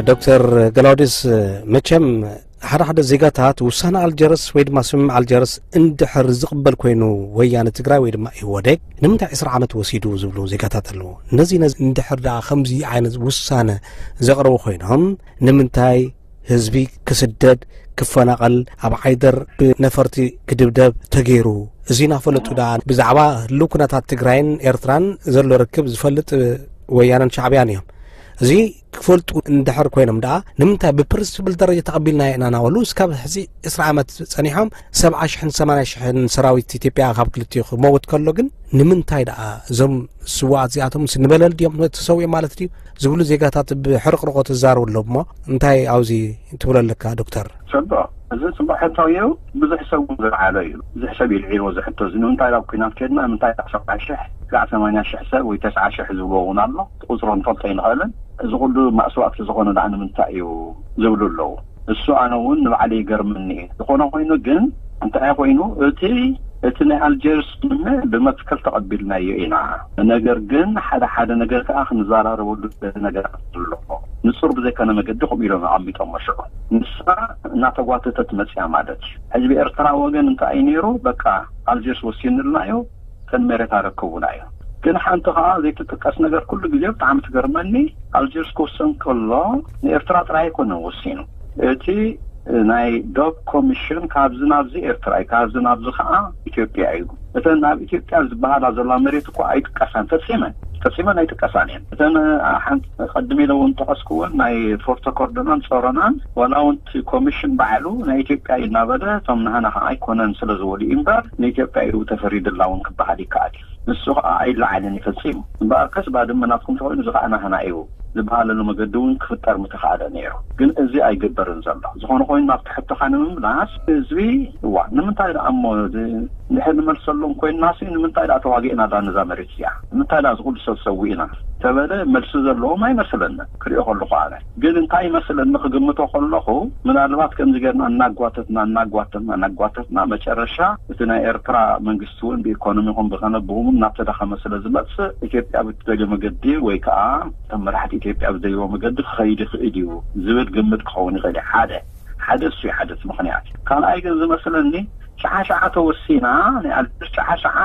ዶክተር ገላውዲስ፣ መቸም ሓደ ሓደ ዜጋታት ውሳነ ኣልጀርስ ወይ ድማ ስምምዕ ኣልጀርስ እንድሕር ዝቕበል ኮይኑ፣ ወያነ ትግራይ ወይ ድማ ኢህወዴግ ንምንታይ ዕስራ ዓመት ወሲዱ ዝብሉ ዜጋታት ኣለዉ። ነዚ ነዚ እንድሕር ደኣ ከምዚ ዓይነት ውሳነ ዘቕረቡ ኮይኖም፣ ንምንታይ ህዝቢ ክስደድ፣ ክፈናቐል፣ ኣብ ዓይደር ብነፈርቲ ክድብደብ ተገይሩ? እዚ እናፈለጡ ደኣ ብዛዕባ ህልው ኩነታት ትግራይን ኤርትራን ዘሎ ርክብ ዝፈልጥ ወያነን ሻዕብያን እዮም። እዚ ክፈልጡ እንድሕር ኮይኖም ደኣ ንምንታይ ብፕሪንስፕል ደረጃ ተቐቢልና ኢና እናበሉ እስካብ ሕዚ ዕስራ ዓመት ጸኒሖም ሰብዓ ሽሕን ሰማንያ ሽሕን ሰራዊት ኢትዮጵያ ካብ ክልቲኡ ክመውት ከሎ ግን ንምንታይ ደኣ እዞም ስዋኣት እዚኣቶም ንበለል ድዮም ተሰዊኦም ማለት ድዩ ዝብሉ ዜጋታት ብሕርቕርቆ ትዛረቡ ኣሎ እሞ እንታይ ኣብዚ ትብሎ ኣለካ ዶክተር? ጽቡቕ። እዚ ጽቡቕ ሕቶ እዩ። ብዙሕ ሰብ እውን ዝለዓሎ እዩ። ብዙሕ ሰብ ይልዒልዎ ዝሕቶ እዚ ንምንታይ ናብ ኲናት ከድና ንምንታይ ካብ ሰብዓ ሽሕ ክሳዕ ሰማንያ ሽሕ ሰብ ወይ ተስዓ ሽሕ ዝብልዎ እውን ኣሎ። ቁጽሩ ንፈልጦ ኣይንኽእልን። እዚ ኩሉ ማእስዋእቲ ዝኾነ ደኣ ንምንታይ እዩ ዝብሉ ኣለዉ። እሱ ኣነ እውን ንባዕለይ ይገርመኒ እዩ። ዝኾነ ኮይኑ ግን እንታይ ኮይኑ እቲ እቲ ናይ ኣልጀርስ ስምምዕ ብመትከል ተቐቢልናዮ ኢና። ነገር ግን ሓደ ሓደ ነገር ከኣ ክንዘራረበሉ ነገራት ኣሎ። ንጹር ብዘይኮነ መገዲ ከምኡ ኢሎም ኣቐሚጦሞ ሽዑ። ንሳ እናተጓተተት መጽያ ማለት እዩ። ሕዚ ብኤርትራ ወገን እንታይ እዩ ነይሩ? በቃ ኣልጀርስ ወሲንልና እዩ፣ ተን መሬት ኣረክቡና እዩ። ግን ሓንቲ ከኣ ዘይትጥቀስ ነገር ኩሉ ግዜ ብጣዕሚ ትገርመኒ፣ ኣልጀርስ ክውሰን ከሎ ንኤርትራ ጥራይ ኣይኮነን ወሲኑ። እቲ ናይ ዶብ ኮሚሽን ካብዚ ናብዚ ኤርትራ እዩ፣ ካብዚ ናብዚ ከኣ ኢትዮጵያ እዩ። እተን ናብ ኢትዮጵያ ዝበሃላ ዘላ መሬት እኮ ኣይጥቀሳን፣ ፈጺመን ፈጺመን ኣይጥቀሳን እየን። እተን ሓንቲ ቀድም ኢለ እውን ጠቐስኩወን ናይ ፎርቶ ኮርዶናን ጾሮናን ዋላ እውን እቲ ኮሚሽን ባዕሉ ናይ ኢትዮጵያ እዩ እናበለ እቶም ናህና ከኣ ኣይኮነን ስለ ዝበሉ እዩ እምበር ንኢትዮጵያ እዩ ተፈሪድላ እውን ክበሃል ይከኣል እዩ። ንሱ ከኣ ኣይለዓልን እዩ ፈጺሙ። እምበኣርከስ ባድመ ናትኩም ተኾይኑ እዚ ከኣ ናህና እዩ ዝበሃለሉ መገዲ እውን ክፍጠር ምተኻእለ ነይሩ። ግን እዚ ኣይግበርን ዘሎ። ዝኾነ ኮይኑ ናብቲ ሕቶኻ ንምምላስ ህዝቢ እዋ ንምንታይ ደኣ እሞ እዚ እንድሕር ንመልሰሎም ኮይንናሲ ንምንታይ ደኣ ተዋጊእና ዳ ነዛ መሬት እዚኣ? ንምንታይ ደኣ እዚ ኩሉ ሰብ ሰዊእና? ተበለ መልሲ ዘለዎም ኣይመስለንን ክሪኦ ከለኹ ኣነ። ግን እንታይ ይመስለኒ ክግምቶ ከለኹ ምናልባት ከምዚ ጌርና እናጓተትና እናጓተትና እናጓተትና መጨረሻ እቲ ናይ ኤርትራ መንግስቲ እውን ብኢኮኖሚ ይኹን ብኸነ ብኡ እውን እናተዳኸመ ስለ ዝመጽእ ኢትዮጵያ ብትደልዮ መገዲ ወይ ከዓ እቶም መራሕቲ ኢትዮጵያ ብዝደልይዎ መገዲ ክኸይድ ይኽእል እዩ ዝብል ግምት ክኸውን ይኽእል እዩ። ሓደ ሓደ እሱ እዩ ሓደ እቲ ምኽንያት እዩ። ካልኣይ ግን ዝመስለኒ ሸዓ ሸዓ ተወሲና ናይ ኣልጀርስ ሸዓ ሸዓ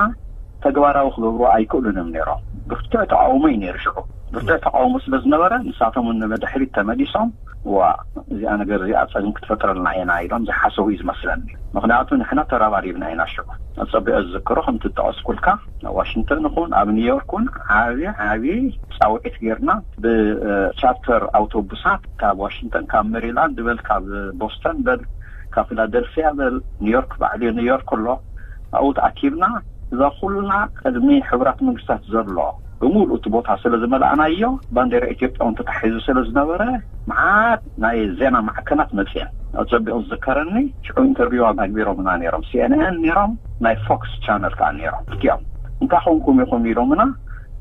ተግባራዊ ክገብሩ ኣይክእሉን እዮም ነይሮም። ብርቱዕ ተቃውሞ እዩ ነይሩ ሽዑ። ብርቱዕ ተቃውሞ ስለ ዝነበረ ንሳቶም እውን ንድሕሪት ተመሊሶም ዋ እዚኣ ነገር እዚኣ ጸገም ክትፈጥረልና ኢና ኢሎም ዝሓሰቡ እዩ ዝመስለኒ። ምኽንያቱ ንሕና ተራባሪብና ኢና ሽዑ። ኣጸቢቐ ዝዝክሮ ከምቲ ዝጠቐስኩልካ ኣብ ዋሽንግተን ይኹን ኣብ ኒውዮርክ እውን ዓቢ ዓቢ ጻውዒት ጌርና ብቻርተር ኣውቶቡሳት ካብ ዋሽንግተን ካብ ሜሪላንድ በል ካብ ቦስተን በል ካብ ፊላደልፊያ በል ኒውዮርክ ባዕሉ ኒውዮርክ ኣሎ ኣብኡ ተኣኪብና እዛ ኩልና ቅድሚ ሕቡራት መንግስታት ዘሎ ብምሉእ እቲ ቦታ ስለ ዝመልኣናዮ ባንዴራ ኢትዮጵያ እውን ተታሒዙ ስለ ዝነበረ መዓት ናይ ዜና ማዕከናት መፅየን። ኣፀቢቑ ዝዝከረኒ ሽዑ ኢንተርቪው ኣግቢሮምና ነይሮም፣ ሲኤንኤን ነይሮም፣ ናይ ፎክስ ቻነል ከዓ ነይሮም። ክልቲኦም እንታይ ኮንኩም ኢኹም ኢሎምና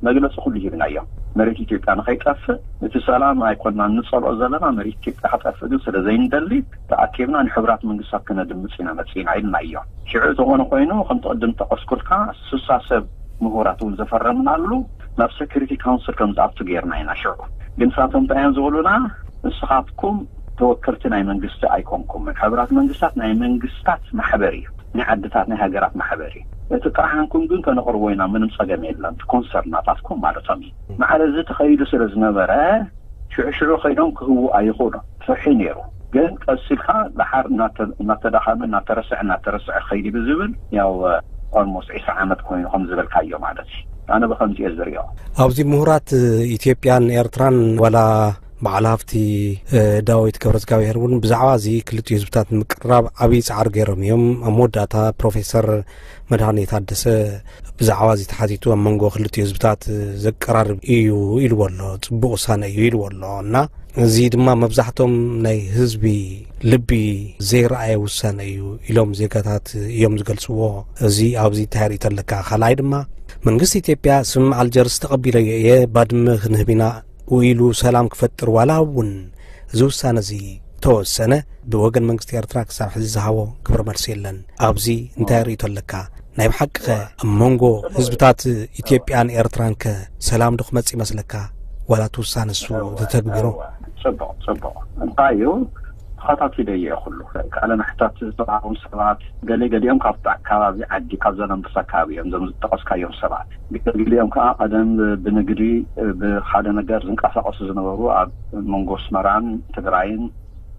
መግለፂ ኩሉ ሂብናዮም። መሬት ኢትዮጵያ ንኸይጠፍእ እቲ ሰላም ኣይኮንና እንፀልኦ ዘለና መሬት ኢትዮጵያ ክጠፍእ ግን ስለ ዘይንደሊ ተኣኪብና ንሕቡራት መንግስታት ክነድምፅ ኢና መፂና ኢልናዮም። ሽዑ ዝኾነ ኮይኑ ከምቲ ቅድም ጠቀስኩልካ ስሳ ሰብ ምሁራት እውን ዘፈረምናሉ ናብ ሴኩሪቲ ካውንስል ከም ዝኣቱ ጌርና ኢና። ሽዑ ግን ንሳቶም እንታይ እዮም ዝብሉና? ንስኻትኩም ተወከልቲ ናይ መንግስቲ ኣይኮንኩምን። ሕቡራት መንግስታት ናይ መንግስታት ማሕበር እዩ፣ ናይ ዓድታት ናይ ሃገራት ማሕበር እዩ። እቲ ጥርዓንኩም ግን ከነቕርቦ ኢና፣ ምንም ጸገም የለን። እቲ ኮንሰርን ናታትኩም ማለቶም እዩ። ማዕረ እዚ ተኸይዱ ስለ ዝነበረ ሽዑ ሽዑ ከይዶም ክህቡ ኣይኽእሉን። ፍርሒ ነይሩ። ግን ቀስ ኢልካ ደሓር እናተ- እናተዳኸመ እናተረስዐ እናተረስዐ ኸይዲ ብዝብል ያው ኦልሞስት ዒስራ ዓመት ኮይኑ ከም ዝበልካዮ ማለት እዩ። ኣነ ብኸምዚ እየ ዝሪኦ። ኣብዚ ምሁራት ኢትዮጵያን ኤርትራን ዋላ በዓል ሃፍቲ ዳዊት ገብረዝጋብሄር እውን ብዛዕባ እዚ ክልቲኡ ህዝብታት ንምቅርራብ ዓብዪ ፃዕሪ ገይሮም እዮም። ኣብ መወዳእታ ፕሮፌሰር መድሃኔ ታደሰ ብዛዕባ እዚ ተሓቲቱ ኣብ መንጎ ክልቲኡ ህዝብታት ዘቀራርብ እዩ ኢልዎ ኣሎ፣ ፅቡቕ ውሳነ እዩ ኢልዎ ኣሎ እና እዚ ድማ መብዛሕቶም ናይ ህዝቢ ልቢ ዘይረኣየ ውሳነ እዩ ኢሎም ዜጋታት እዮም ዝገልፅዎ። እዚ ኣብዚ እንታይ ርእይቶ ኣለካ? ካልኣይ ድማ መንግስቲ ኢትዮጵያ ስምምዕ ኣልጀርስ ተቐቢለዮ እየ፣ ባድመ ክንህብ ኢና ኢሉ ሰላም ክፈጥር ዋላ እውን እዚ ውሳነ እዚ ተወሰነ ብወገን መንግስቲ ኤርትራ ክሳብ ሕዚ ዝሃቦ ግብረ መልሲ የለን። ኣብዚ እንታይ ርእይቶ ኣለካ? ናይ ብሓቂ ከ ኣብ መንጎ ህዝብታት ኢትዮጵያን ኤርትራን ከ ሰላም ዶ ክመጽእ ይመስለካ? ዋላ እቲ ውሳነ እሱ ተተግቢሩ? ጽቡቕ ጽቡቕ። እንታይ እዩ? ተኸታቲለዮ ኩሉ ቃለ መሕታት ዝተዋሃቦም ሰባት፣ ገለ ገሊኦም ካብቲ ከባቢ ዓዲ፣ ካብ ዘለምበሳ ከባቢ እዮም፣ እዞም ዝጠቐስካዮም ሰባት። ገለ ገሊኦም ከዓ ቀደም ብንግዲ፣ ብሓደ ነገር ዝንቀሳቐሱ ዝነበሩ፣ ኣብ መንጎ ኣስመራን ትግራይን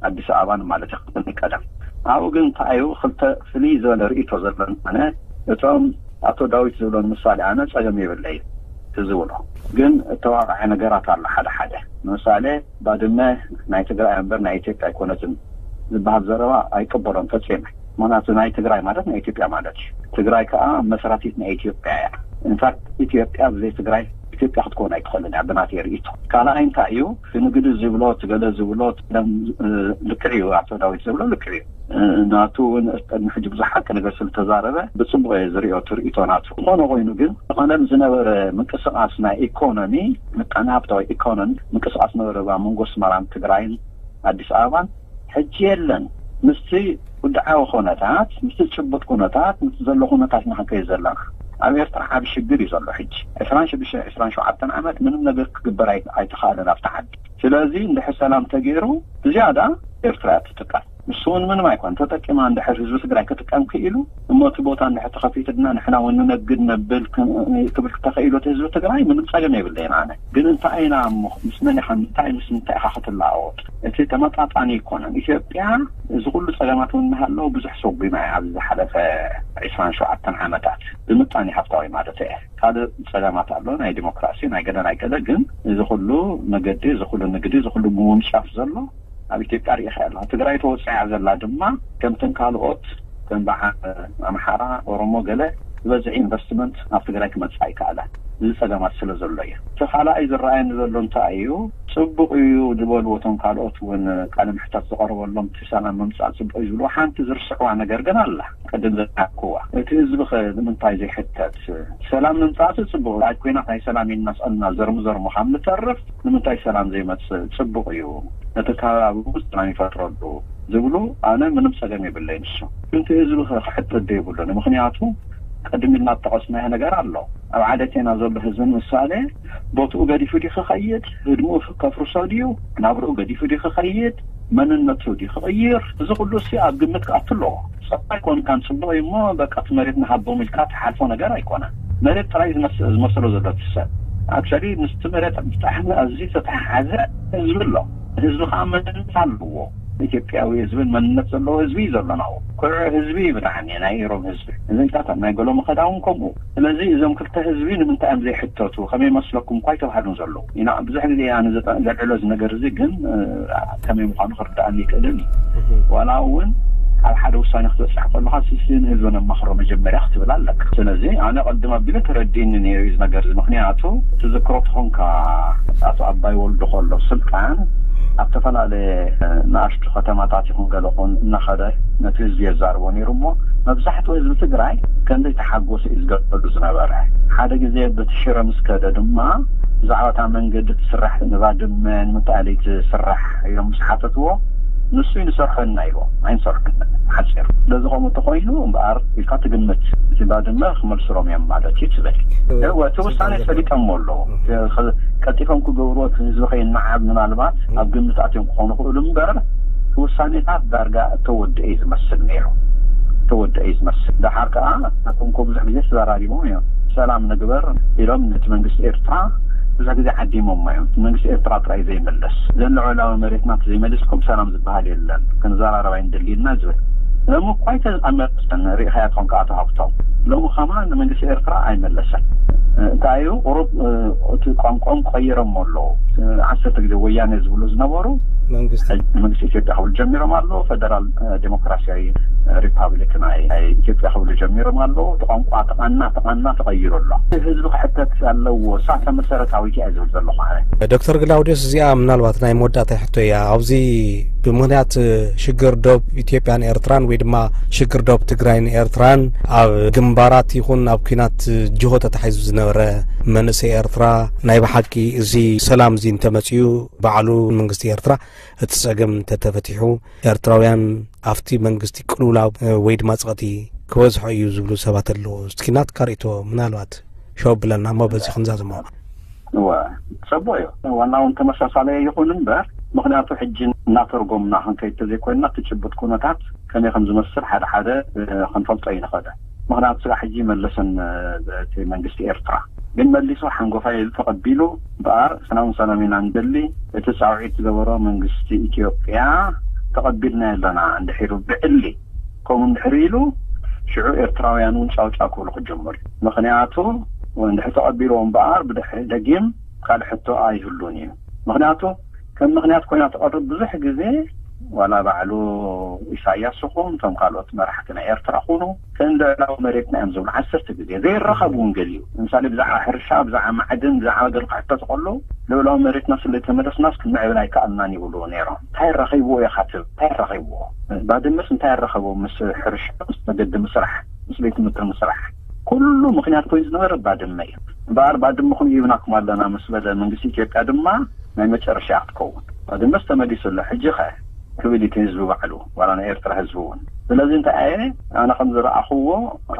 ኣዲስ ኣበባን ማለት እዩ፣ ቅድሚ ቀደም። ኣብኡ ግን እንታይ እዩ፣ ክልተ ፍልይ ዝበለ ርእይቶ ዘለኒ ኣነ፣ እቶም ኣቶ ዳዊት ዝብሎ ንምሳሌ፣ ኣነ ጸገም የብለይ ዝብሎ፣ ግን እተዋቕዐ ነገራት ኣሎ። ሓደ ሓደ ንምሳሌ፣ ባድመ ናይ ትግራይ እምበር ናይ ኢትዮጵያ ኣይኮነትን ዝበሃል ዘረባ ኣይቅበሎን ፈጺመ። ምኽንያቱ ናይ ትግራይ ማለት ናይ ኢትዮጵያ ማለት እዩ። ትግራይ ከዓ መስራቲት ናይ ኢትዮጵያ እያ። ኢንፋክት ኢትዮጵያ ብዘይ ትግራይ ኢትዮጵያ ክትከውን ኣይትኽእልን እያ ብናተይ ርእይቶ። ካልኣይ እንታይ እዩ፣ እቲ ንግዲ ዝብሎ፣ እቲ ገለ ዝብሎ፣ እቲ ደም፣ እ፣ ልክዕ እዩ፣ ኣቶ ዳዊት ዝብሎ ልክዕ እዩ። እ፣ ናቱ እውን ቅድሚ ሕጂ ብዙሕ ሓቂ ነገር ስለተዛረበ ብጽቡቕ እየ ዝርእዮ እቲ ርእይቶ ናቱ። ዝኾነ ኮይኑ ግን፣ ቀደም ዝነበረ ምንቅስቓስ ናይ ኢኮኖሚ፣ ምጣነ ሃብታዊ ኢኮኖሚ ምንቅስቓስ ነበረ ኣብ መንጎ ኣስመራን ትግራይን ኣዲስ ኣበባን ሕጂ የለን። ምስቲ ውድዓዊ ኩነታት፣ ምስቲ ጭቡጥ ኩነታት፣ ምስቲ ዘሎ ኩነታት ኢና ክንከይድ ዘለና። ኣብ ኤርትራ ዓቢ ሽግር እዩ ዘሎ ሕጂ። ዕስራን ሽዱሽተ፣ ዕስራን ሸውዓተን ዓመት ምንም ነገር ክግበር ኣይ-፣ ኣይተኻእለን ኣብቲ ዓዲ። ስለዚ እንድሕር ሰላም ተገይሩ፣ ብዝያዳ ኤርትራ እያ ትጥቀም። ንሱ እውን ምንም ኣይኮን ተጠቂማ። እንድሕር ህዝቢ ትግራይ ክጥቀም ክኢሉ፣ እሞ እቲ ቦታ እንድሕር ተኸፊቱ ድማ ንሕና እውን ንነግድ ነብል ክም-፣ ክብል ተኸኢሉ እቲ ህዝቢ ትግራይ ምንም ጸገም የብለይን። ኣነ ግን እንታይ ኢና እሞ፣ ምስ መን ኢኻ፣ እንታይ ምስ ምንታይ ኢኻ ክትለዋወጥ? እቲ ተመጣጣኒ ኣይኮነን። ኢትዮጵያ እዚ ኩሉ ጸገማት እውን እናሃለወ ብዙሕ ሰጒማ እያ ኣብዚ ዝሓለፈ ዕስራን ሸውዓተን ዓመታት፣ ብምጣኔ ሃብታዊ ማለት እየ። ካልእ ጸገማት ኣሎ፣ ናይ ዲሞክራሲ፣ ናይ ገለ ናይ ገለ። ግን እዚ ኩሉ መገዲ፣ እዚ ኩሉ ንግዲ፣ እዚ ኩሉ ምውንጫፍ ዘሎ ኣብ ኢትዮጵያ ርኢኻ ኣለኻ። ትግራይ ተወፂኣ ዘላ ድማ ከምተን ካልኦት ከም በዓል ኣምሓራ፣ ኦሮሞ ገለ ዝበዝሕ ኢንቨስትመንት ኣብ ትግራይ ክመፅእ ኣይከኣለን። እዚ ጸገማት ስለ ዘሎ እዩ። እቲ ካልኣይ ዝረኣየኒ ዘሎ እንታይ እዩ፣ ጽቡቕ እዩ ዝበልዎ እቶም ካልኦት እውን ቃለ ምሕታት ዝቐረበሎም፣ እቲ ሰላም ምምፃእ ጽቡቕ እዩ ዝብልዎ፣ ሓንቲ ዝርስዕዋ ነገር ግን ኣላ። ቅድም ዘካክዋ እቲ ህዝቢ ኸ ንምንታይ ዘይሕተት? ሰላም ምምፃእ ጽቡቕ፣ ኣብ ኲናት ናይ ሰላም ኢልና ስቕልና ዘርሙ ዘርሙ ካብ ንተርፍ ንምንታይ ሰላም ዘይመፅእ? ጽቡቕ እዩ፣ ነቲ ከባቢ እውን ሰላም ይፈጥረሉ ዝብሉ፣ ኣነ ምንም ጸገም የብለይ። ንሱ ግን እቲ ህዝቢ ኸ ክሕተት ዘይብሉን? ምኽንያቱ ቅድም ኢልና ዝጠቐስናዮ ነገር ኣሎ። ኣብ ዓደቴና ዘሎ ህዝቢ ንምሳሌ ቦትኡ ገዲፉ ድዩ ክኸይድ? ህድምኡ ከፍርሶ ድዩ? ናብርኡ ገዲፉ ድዩ ክኸይድ? መንነቱ ድዩ ክቕይር? እዚ ኩሉ እሲ ኣብ ግምት ክኣቱ ኣለዎ። ጸባይ ኮንካን ጽቡቕ እዩ እሞ በቃ እቲ መሬት ንሃቦም ኢልካ ትሓልፎ ነገር ኣይኮነን። መሬት ጥራይ ዝመስ-፣ ዝመስሎ ዘሎ እቲ ሰብ። ኣክቹዋሊ ምስቲ መሬት ብጣዕሚ ኣዝዩ ዝተተሓሓዘ ህዝቢ ኣሎ። ህዝቢ ከዓ መንነት ኣለዎ። ኢትዮጵያዊ ህዝብን መንነት ዘለዎ ህዝቢ እዩ ዘሎና። ኩርዕ ህዝቢ እዩ ብጣዕሚ ናይ ኢሮብ ህዝቢ። እዚ ኢልካ ናይ ገሎ መኸዳ እውን ከምኡ። ስለዚ እዞም ክልተ ህዝቢ ንምንታይ እዮም ዘይሕተቱ? ከመይ መስለኩም እኳ ይተባህሉን ዘለዉ ኢና። ብዙሕ ግዜ ኣነ ዘጠ-፣ ዘልዕሎ እዚ ነገር እዚ ግን፣ እ፣ ከመይ ምዃኑ ክርድኣኒ ይክእልን እዩ። ዋላ እውን ኣብ ሓደ ውሳኔ ክትበፅሕ ከለኻ፣ ስስን ህዝብን ኣማኽሮ መጀመርያ ክትብል ኣለካ። ስለዚ ኣነ ቅድም ኣቢለ ተረዲእኒ ነይሩ እዚ ነገር እዚ። ምኽንያቱ ትዝክሮ ተኾንካ፣ ኣቶ ኣባይ ወልዱ ከሎ ስልጣን ኣብ ዝተፈላለየ፣ እ፣ ንኣሽቱ ከተማታት ይኹን ገለ ኹን እናኸደ ነቲ ህዝቢ የዛርቦ ነይሩ እሞ፣ መብዛሕትኡ ህዝቢ ትግራይ ከም ዘይተሓጎሰ እዩ ዝገልጸሉ ዝነበረ። ሓደ ግዜ በቲ ሽረ ምስ ከደ ድማ፣ ብዛዕባ እታ መንገዲ ትስራሕ ንባድመ ንምንታይ ትስራሕ ኢሎም ምስ ሓተትዎ፣ ንሱ እዩ ንሰርሖ ኢና ኢልዎ። ኣይንሰርሖን፣ ሓፂር። ስለዚ ከምኡ እንተኾይኑ እምበኣር ኢልካ ትግምት፣ እቲ ባድመ ክመልስሎም እዮም ማለት እዩ ትብል። እወ፣ እቲ ውሳኔ ፈሊጦሞ ኣለዉ። ቀልጢፎም ክገብርዎ፣ እቲ ህዝቢ ከይነዓብ ምናልባት ኣብ ግምት ኣትዮም ክኾኑ ይኽእሉ እምበር፣ እቲ ውሳኔታት ዳርጋ እተወድአ እዩ ዝመስል ነይሩ። እተወድአ እዩ ዝመስል። ደሓር ከኣ ናቶም እኮ ብዙሕ ግዜ ተዘራሪቦም እዮም። ሰላም ንግበር ኢሎም ነቲ መንግስቲ ኤርትራ ብዙሕ ግዜ ዓዲሞሞ እዮም። መንግስቲ ኤርትራ ጥራይ ዘይመለስ፣ ዘን ልዑላዊ መሬትና ዘይመልስኩም ሰላም ዝበሃል የለን፣ ክንዘራረብ ኣይንደሊ ኢልና ዝብል። ሎሚ እኳ ኣይተኣመሰን፣ ርኢኻዮ ትኾን ከኣ ተሃብቶም። ሎሚ ከማን ንመንግስቲ ኤርትራ ኣይመለሰን። እንታይ እዩ፣ ቁሩብ፣ እ፣ እቲ ቋንቋኦም ቀይሮሞ ኣለዉ። እ፣ ዓሰርተ ግዜ ወያኔ ዝብሉ ዝነበሩ፣ መንግስቲ። ሕጂ መንግስቲ ኢትዮጵያ ክብሉ ጀሚሮም ኣለዉ። ፈደራል፣ እ፣ ዴሞክራሲያዊ፣ እ፣ ሪፓብሊክ ናይ፣ ናይ ኢትዮጵያ ክብሉ ጀሚሮም ኣለዉ። እቲ ቋንቋ ተቓና፣ ተቓና ተቐይሩ ኣሎ። እቲ ህዝቢ ክሕተት ኣለዎ። እሳ እታ መሰረታዊት እያ ዝብል ዘለኹ ኣነ። ዶክተር ግላውዲዮስ፣ እዚኣ ምናልባት ናይ መወዳእታ ሕቶ እያ። ኣብዚ ብምኽንያት ሽግር ዶብ ኢትዮጵያን ኤርትራን ወይ ድማ ሽግር ዶብ ትግራይን ኤርትራን ኣብ ግንባራት ይኹን ኣብ ኲናት ጅሆ ተታሒዙ ዝነበረ መንእሰይ ኤርትራ፣ ናይ ብሓቂ እዚ ሰላም እዚ እንተመጺኡ፣ ባዕሉ መንግስቲ ኤርትራ እቲ ጸገም እንተተፈቲሑ፣ ኤርትራውያን ኣብቲ መንግስቲ ቅልውላው ወይ ድማ ጸቕጢ ክበዝሖ እዩ ዝብሉ ሰባት ኣለዉ። እስኪ ናትካ ርእይቶ ምናልባት ሸው ብለና እሞ በዚ ክንዛዝሞ። እወ፣ ጽቡቕ እዩ። ዋና እውን ተመሳሳሊ ይኹን እምበር፣ ምኽንያቱ ሕጂ እናተርጎምና ክንከይድ ተዘይኮይንና እቲ ጭቡጥ ኩነታት ከመይ ከም ዝመስል ሓደ ሓደ ክንፈልጦ ይንኽእል። ምኽንያቱ ስጋ ሕጂ መለሰን እቲ መንግስቲ ኤርትራ ግን መሊሱ ሓንጎፋይ ኢሉ ተቐቢሉ እምበኣር ሰላም ሰላም ኢና ንደሊ፣ እቲ ጻውዒት ዝገበሮ መንግስቲ ኢትዮጵያ ተቐቢልና ኣለና እንድሒሩ ብዕሊ ከምኡ እንድሕር ኢሉ ሽዑ ኤርትራውያን እውን ጫውጫው ክብሉ ክጀምሩ እዩ። ምኽንያቱ እንድሕር ተቐቢልዎ እምበኣር ብድሕሪ ደጊም ካልእ ሕቶ ኣይህሉን እዩ። ምኽንያቱ ከም ምኽንያት ኮይና ትቐርብ ብዙሕ ግዜ ዋላ ባዕሉ ኢሳያስ ይኹን እቶም ካልኦት መራሕቲ ናይ ኤርትራ ኩኑ ከም ልዕላዊ መሬትና እዮም ዝብሉ ዓሰርተ ግዜ ዘይረኸቡ እውን ገሊኡ ምሳሌ ብዛዕባ ሕርሻ ብዛዕባ ማዕድን ብዛዕባ ገለ ክሕተቱ ከለዉ ልዕላዊ መሬትና ስለ ተመለስናስ ክንምዕብል ኣይከኣልናን ይብሉ ነይሮም። እንታይ ረኺብዎ ኢኻ ትብል እንታይ ረኺብዎ? ባድመስ እንታይ ረኸቦ ምስ ሕርሻ ምስ መገዲ ምስራሕ ምስ ቤት ትምህርቲ ምስራሕ ኩሉ ምኽንያት ኮይኑ ዝነበረ ባድመ እዩ። እምበኣር ባድመኹም ሂብናኩም ኣለና ምስ በለ መንግስቲ ኢትዮጵያ ድማ ናይ መጨረሻ እያ ክትከውን። ባድመስ ተመሊሱ ኣሎ ሕጂ ኸ ክብል እቲ ህዝቢ ባዕሉ ዋላ ናይ ኤርትራ ህዝቢ እውን። ስለዚ እንታይ ኣየ ኣነ ከም ዝረኣኽዎ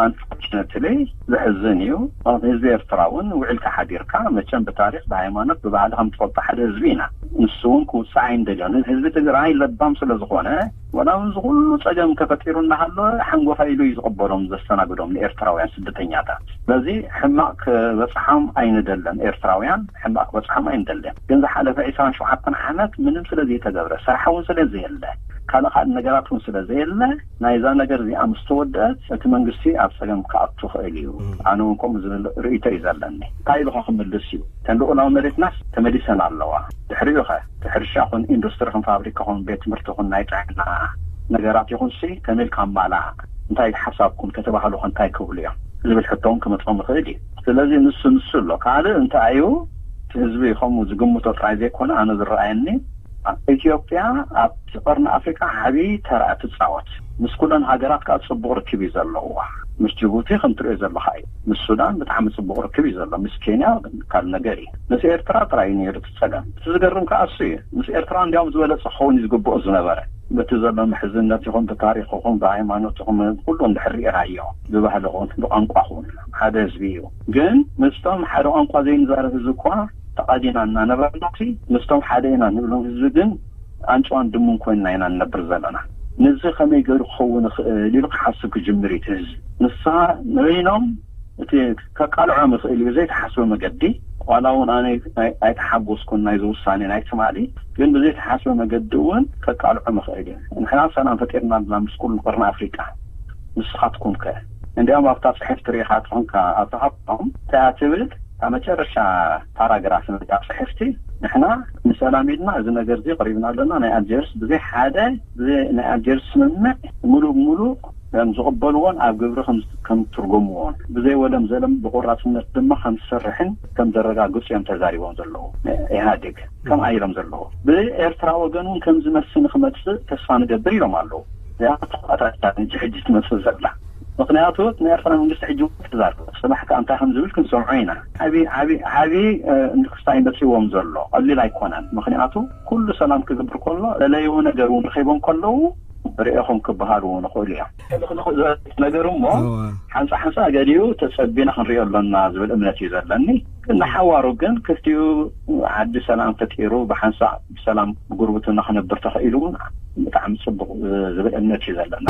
ኣንፎርችነትሊ ዘሕዝን እዩ። ማለት ህዝቢ ኤርትራ እውን ውዕልካ ሓዲርካ መቸም ብታሪክ ብሃይማኖት ብባህሊ ከም ትፈልጦ ሓደ ህዝቢ ኢና። ንሱ እውን ክውፅዕ ኣይንደልዮን። ህዝቢ ትግራይ ለባም ስለ ዝኾነ ወላ እውን ዝኩሉ ፀገም ከፈጢሩ እናሃለወ ሓንጎፋ ኢሉ እዩ ዝቕበሎም ዘስተናግዶም ንኤርትራውያን ስደተኛታት። ስለዚ ሕማቕ ክበፅሓም ኣይንደለን ኤርትራውያን ሕማቕ ክበፅሓም ኣይንደለን። ግን ዝሓለፈ ዕስራን ሸውዓተን ዓመት ምንም ስለ ዘይተገብረ ስራሕ እውን ስለ ዘየለ ካልእ ካልእ ነገራት እውን ስለ ዘየለ ናይዛ ነገር እዚኣ ምስ ተወደአት እቲ መንግስቲ ኣብ ፀገም ክኣቱ ክእል እዩ። ኣነ እውን ከምኡ ዝብል ርእይቶ እዩ ዘለኒ። እንታይ ኢልካ ክምልስ እዩ? ተን ልኡላዊ መሬትናስ ተመሊሰን ኣለዋ። ድሕሪኡ ኸ እቲ ሕርሻ ኹን ኢንዱስትሪ ኹን ፋብሪካ ኹን ቤት ትምህርቲ ኹን ናይ ጥዕና ነገራት ይኹን ሲ ከመይ ኢልካ ኣማላእ እንታይ ሓሳብኩም ከተባህሉ ኸ እንታይ ክብሉ እዮም ዝብል ሕቶ እውን ክመፅኦም ይኽእል እዩ። ስለዚ ንሱ ንሱ ኣሎ። ካልእ እንታይ እዩ እቲ ህዝቢ ከምኡ ዝግምቶ ጥራይ ዘይኮነ ኣነ ዝረኣየኒ ኢትዮጵያ ኣብቲ ቀርኒ ኣፍሪካ ዓብዪ ተራ ትፃወት። ምስ ኩለን ሃገራት ከዓ ፅቡቕ ርክብ እዩ ዘለዋ። ምስ ጅቡቲ ከም ትሪኦ ዘለካ እዩ። ምስ ሱዳን ብጣዕሚ ፅቡቕ ርክብ እዩ ዘሎ። ምስ ኬንያ ካልእ ነገር እዩ። ምስ ኤርትራ ጥራይ እዩ ነይሩ እቲ ፀገም። እቲ ዝገርም ከዓ እሱ እዩ። ምስ ኤርትራ እንዲያውም ዝበለፀ ክኸውን እዩ ዝግብኦ ዝነበረ። በቲ ዘሎ ምሕዝነት ይኹን ብታሪክ ይኹን ብሃይማኖት ይኹን ኩሉ እንድሕር ርኢኻዮ ብባህሊ ይኹን ብቋንቋ ይኹን ሓደ ህዝቢ እዩ። ግን ምስቶም ሓደ ቋንቋ ዘይንዛረብ ህዝቢ እኳ ተቓዲና እናነበርና ምስቶም ሓደ ኢና ንብሎም ህዝቢ ግን ኣንጭዋን ድሙን ኮይንና ኢና ንነብር ዘለና። ነዚ ከመይ ገይሩ ክኸውን ይኽእል ኢሉ ክሓስብ ክጅምር እዩ እቲ ህዝቢ። ንሳ ንበይኖም እቲ ከቃልዖም ይኽእል እዩ ብዘይተሓስበ መገዲ። ዋላ እውን ኣነ ኣይተሓጎስኩን ናይዚ ውሳኔ ናይ ትማሊ፣ ግን ብዘይተሓስበ መገዲ እውን ከቃልዖም ይኽእል እዩ። ንሕና ሰላም ፈጢርና ኣለና ምስ ኩሉ ቀርኒ ኣፍሪቃ፣ ንስኻትኩም ከ? እንዲያውም ኣብታ ጽሕፍቲ ርኢኻ ትኾንካ ኣብታ ሃብቶም እንታይ እያ ትብል? ኣብ መጨረሻ ፓራግራፍ ናይታ ጽሕፍቲ ንሕና ንሰላም ኢልና እዚ ነገር እዚ ቀሪብና ኣለና። ናይ ኣልጀርስ ብዘይ ሓደ ብዘይ ናይ ኣልጀርስ ስምምዕ ሙሉእ ብሙሉእ ከም ዝቕበልዎን ኣብ ግብሪ ከም ከም ትርጎምዎን ብዘይ ወለም ዘለም ብቆራፅነት ድማ ከም ዝሰርሕን ከም ዘረጋግፁ እዮም ተዛሪቦም ዘለዉ። ኢህኣዴግ ከም ኣይሎም ዘለዉ ብኤርትራ ወገን እውን ከም ዝመስል ንክመፅእ ተስፋ ንገብር ኢሎም ኣለዉ። እዚኣ ተቆጣጣሪታት እንጂ ሕጂ ትመፅእ ዘላ ምክንያቱ ናይ ኤርትራ መንግስቲ ሕጂ እውን ተዛርበ ፅባሕ ከዓ እንታይ ከም ዝብል ክንሰምዖ ኢና። ዓብዪ ዓብዪ ዓብዪ ንክስታይ መፅዎም ዘሎ ቀሊል ኣይኮነን። ምክንያቱ ኩሉ ሰላም ክገብር ከሎ ለለይዎ ነገር እውን ረኺቦም ከለዉ ርእኹም ክበሃሉ እውን ይኽእሉ እዮም። ነገር እሞ ሓንሳ ሓንሳ ገሊኡ ተጸቢና ክንሪኦ ኣሎና ዝብል እምነት እዩ ዘለኒ። ግን ንሓዋሩ ግን ክልቲኡ ዓዲ ሰላም ፈጢሩ ብሓንሳእ ብሰላም ብጉርብትና ክነብር ተኽኢሉ እውን ብጣዕሚ ጽቡቕ ዝብል እምነት እዩ ዘለና።